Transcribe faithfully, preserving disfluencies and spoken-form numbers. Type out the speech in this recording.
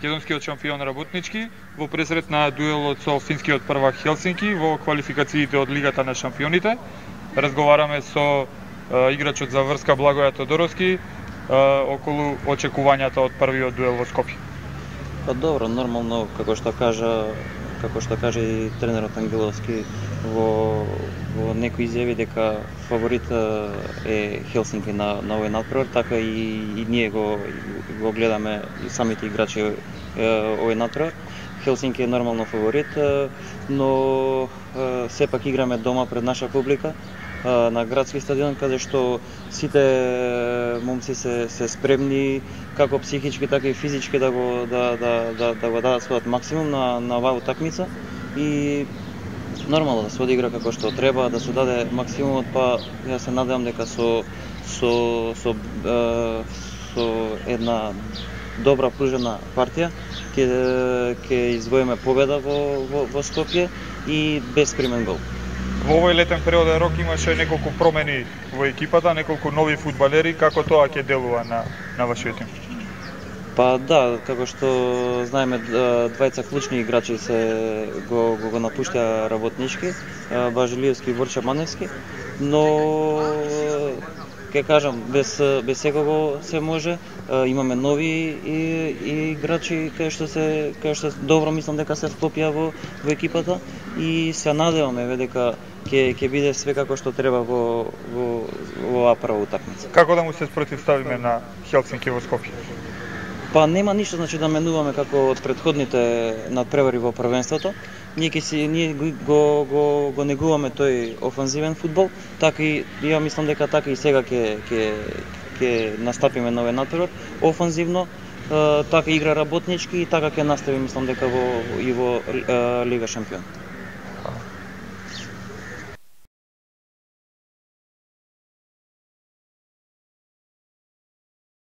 македонскиот шампион работнички во пресрет на дуелот со финскиот првак Хелсинки во квалификациите од Лигата на шампионите. Разговараме со е, играчот за врска Благоја Тодоровски е, околу очекувањата од првиот дуел во Скопје. Па добро, нормално, како што кажа, како што кажа и тренерот Ангеловски во во некои изјави дека фаворит е Хелсинки на на овој надпревар, така и, и ние го го гледаме и самите играчи е, овој надпревар. Хелсинки е нормално фаворит, но е, сепак играме дома пред наша публика на градски стадион, каде што сите момци се се спремни како психички така и физички да го да да да, да го дадат својот максимум на на оваа утакмица и нормално да се одигра како што треба, да се даде максимумот, па ја се надевам дека со со со е, со една добра пружена партија ќе ќе извоиме победа во во, во Скопје и без примен гол. Во овој летен периоден рок имаше неколку промени во екипата, неколку нови фудбалери, како тоа ќе делува на на вашиот тим? Па да, како што знаеме, двајца клучни играчи се го го, го напуштаа работнички, Бажилиевски и Ворча Маневски, но ќе кажам, без без секого се може. Имаме нови и, и играчи кои што се кои што добро мислам дека се вклопија во во екипата и се надеваме дека ќе ќе биде све како што треба во во во оваа прва утакмица. Како да му се спротивставиме на Хелсинки во Скопје? Па нема ништо, значи да менуваме како од претходните надпревари во првенството. Ние ќе си ние го го го негуваме тој офанзивен фудбал, така и ја мислам дека така и сега ќе ќе ќе настапиме на овој надпревар офанзивно, така игра работнички и така ќе настави мислам дека во и во Лига шампион.